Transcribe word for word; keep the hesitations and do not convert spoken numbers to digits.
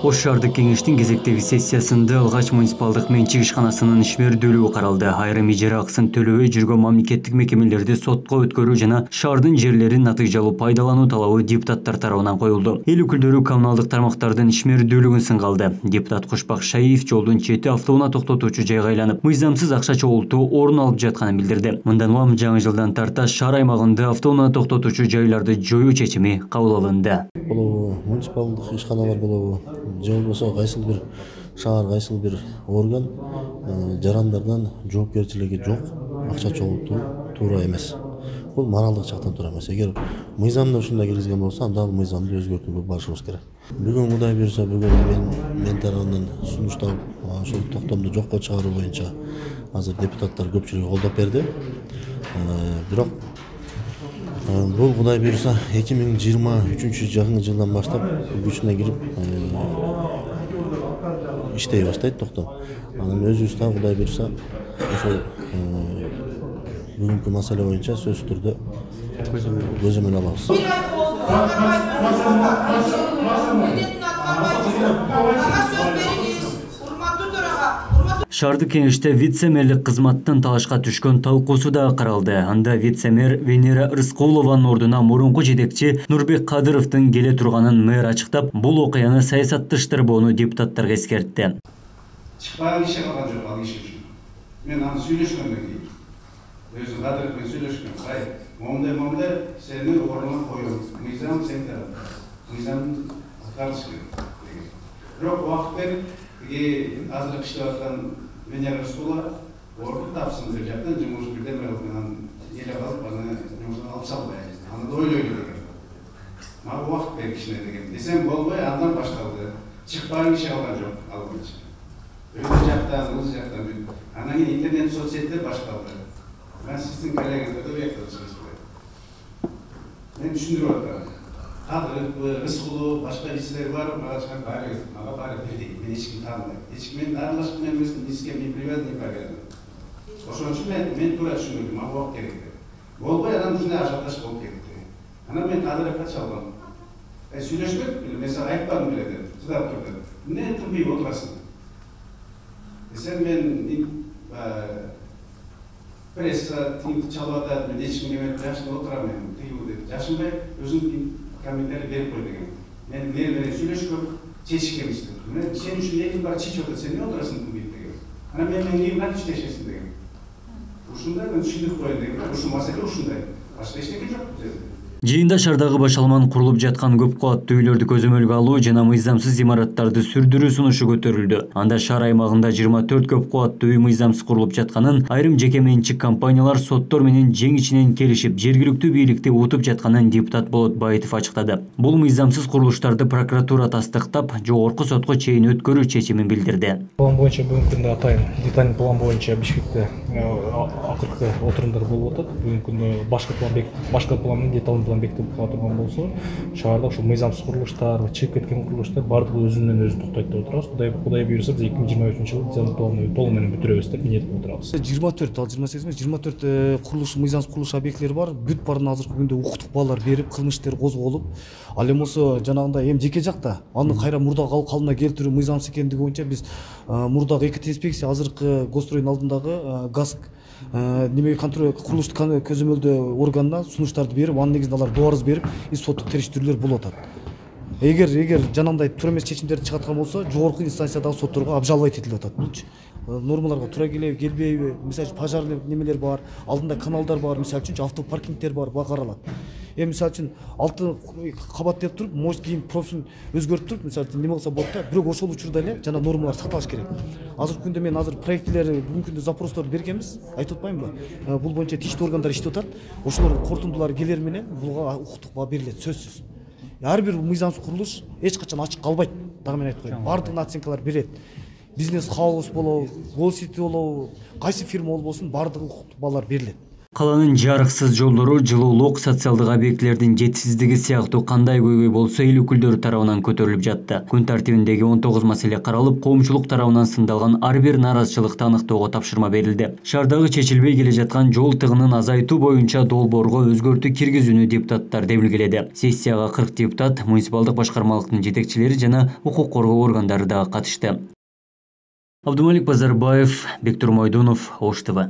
Ош шаардык кеңештин кезектеги сессиясында Алгач муниципалдык менчик ишканасынын ишмердүүлүгү каралды. Айрым ижара акысын төлөбөй жүргөн мамлекеттик мекемелерди сотко өткөрүү жана шаардын жерлерин натыйжалуу пайдалануу талабы депутаттар тарабынан коюлду. Эл өкүлдөрү коммуналдык тармактардын ишмердүүлүгүн сынга алды. Депутат Кушпак Шаиев жолдун чети автоунаа токтотуучу жайга айланып, мыйзамсыз акча чогултуу орун алып жатканын билдирди. Мындан улам жаңы жылдан тарта шаар аймагында автоунаа токтотуучу жайларды жоюу чечими кабыл алынды. Болобу муниципалдык ишканалар болобу же болбосо кайсыл бир шаар, кайсыл бир орган жарандардан жоопкерчилиги жок акча чогултуу туура эмес. Бул моралдык жактан туура эмес. Эгер мыйзамда ушундай киргизген болсо, анда ал мыйзамды өзгөртүүгө барышыбыз керек. Бүгүн Кудай буйрса, бүгүн мен мен тарабынан сунушталып, ошол токтомду жокко чыгаруу боюнча азыр депутаттар көпчүлүгү колдоп берди. Бирок бул Кудай буйрса эки миң жыйырма үчүнчү жакын жылдан баштап күчүнө кирип иштей баштайт токтом. Анан өзүбүз да Кудай буйрса ошол бүгүнкү маселе боюнча сөзсүз түрдө көзөмөл алабыз. Шаардык кеңеште вице-мэрлик кызматтын талашка түшкөн талкуусу да каралды. Анда вице-мэр Венера Рыскулованын ордуна мурунку жетекчи Нурбек Кадыровдун келе турганын мэр ачыктап, бул окуяны саясатташтырбоону депутаттарга эскертти. Чыкпаган иши калган жок ал иш үчүн. Мен аны сүйлөшкөндөн кийин өзү Кадыров менен сүйлөшкөм. Кай, момундай момундай сени ордуна коюм. Мыйзам сен тарап. Мыйзам аткарыш керек деген. Бирок убакыт берип, азыр иштеп аткан Венера Рыскулова орду тапсын деп жактан жумуш бирдеме кылып менен эле калып, аны жумуштан алып салбай. Аны да ойлой керек. Мага убакыт бер кичине деген. Десем болбой, андан башталды. Чыкпаган иши калган жок ал боюнча. Өз жактан, өз жактан бүт. Анан кийин интернет соцсеттер башталды. Мен сиздин коллегаңызды бектеп чыгыштым. Мен түшүндүрүп атам. Кадыров, Рыскулов, башка кишилер бар, мага чыгып баары, мага баары бирдей. Мен эч кимди тааныбайм. Эч ким менен аралашкан эмесмин, эч ким не привязан, не повязан. Ошон үчүн мен мен туура түшүндүрдүм, мага убакыт керек деп. Болбой анан ушундай ажиотаж болуп кетти. Анан мен Кадыровго чалдым. Э, сүйлөшпөдүк беле, мен сага айтпадым беле деп, чыдап тур деп. Эмне тынбай отурасың? Десем мен пресса тиңди чалып атат, мен эч кимге эметип жашынып отурам мен, тыюу деп. Жашынбай өзүнүн комментарий берип кой деген. Мен мэр менен сүйлөшкөм, чечишкем иштеп. Мен сен үчүн элим бар чечип атат, сен эмне отурасың тынбайт деген. Анан мен менен кийин кантип иштешесиң деген. Ушундай мен түшүндүрүп коеюн деген. Ушул маселе ушундай. Башка эчтеке жок бул жерде. Жыйында шаардагы башалман курулуп жаткан көп кабаттуу үйлөрдү көзөмөлгө алуу жана мыйзамсыз имараттарды сүрдүрүү сунушу көтөрүлдү. Анда шаар аймагында жыйырма төрт көп кабаттуу үй мыйзамсыз курулуп жатканын, айрым жеке менчик компаниялар соттор менен жең ичинен келишип, жергиликтүү бийликти утуп жатканын депутат Болот Баитов ачыктады. Бул мыйзамсыз курулуштарды прокуратура тастыктап, жогорку сотко чейин өткөрүү чечимин билдирди. План боюнча бүгүнкү күндө атайын детальный план боюнча Бишкекте акыркы отурумдар болуп атат. Бүгүнкү күндө башка план башка пландын детальный бекитип кала турган болсо, шаарда ушул мыйзамсыз курулуштар, чыгып кеткен курулуштар бардыгы өзүнөн өзү токтойт деп отурабыз. Кудай Кудай буйрса, биз эки миң жыйырма үчүнчү жылы детальный планды толук менен бүтүрөбүз деп ниет кылып отурабыз. жыйырма төрт, ал жыйырма сегиз эмес, жыйырма төрт курулуш мыйзамсыз курулуш объектилери бар. Бүт баарын азыркы күндө укуктук баалар берип, кылмыш иштери козголуп, ал эми болсо жанагындай эми жеке жакта аны кайра мурдагы калыбына келтирүү мыйзамсыз экендиги боюнча биз мурдагы экити инспекция азыркы Госстройдун алдындагы ГАСК неме контроль курулуштук көзөмөлдөө органына сунуштарды берип, анын негизинде алар доо арыз берип, соттук териштирүүлөр болуп атат. Эгер эгер жанагындай туура эмес чечимдерди чыгарткан болсо, жогорку инстанциядагы сотторго обжаловать этилип атат. Булчу нормаларга туура келеби, келбейби, мисалы үчүн пожарный немелер бар, алдында каналдар бар, мисалы үчүн автопаркингдер бар, буга каралат. Эми мисалы үчүн алты кабат деп туруп, может кийин профилин өзгөртүп туруп, мисалы үчүн неме кылса болот да, бирок ошол учурда эле жана нормалар сакталыш керек. Азыркы күндө мен азыр проектилерди, бүгүнкү күндө запростор бергенбиз, айтып атпаймынбы? Бул боюнча тиештүү органдар иштеп атат. Ошолордун корутундулары келер менен буга укуктук баа берилет, сөзсүз. Ар бир мыйзамсыз курулуш эч качан ачык калбайт. Дагы мен айтып коеюн. Бардыгына оценкалар берет. Бизнес хаус болобу, Голсити болобу, кайсы фирма болбосун, бардыгы укуктук баалар берилет. Каланын жарыксыз жолдору, жылуулук, социалдык объектилердин жетишсиздиги сыяктуу кандай көйгөй болсо эл өкүлдөрү тарабынан көтөрүлүп жатты. Күн тартибиндеги он тогуз маселе каралып, коомчулук тарабынан сындалган ар бир нааразычылыкты аныктоого тапшырма берилди. Шаардагы чечилбей келе жаткан жол тыгынын азайтуу боюнча долбоорго өзгөртүү киргизүүнү депутаттар демилгеледи. Сессияга кырк депутат, муниципалдык башкармалыктын жетекчилери жана укук коргоо органдары дагы катышты. Абдумалик Базарбаев, Бектур Мойдунов, Ош ТВ.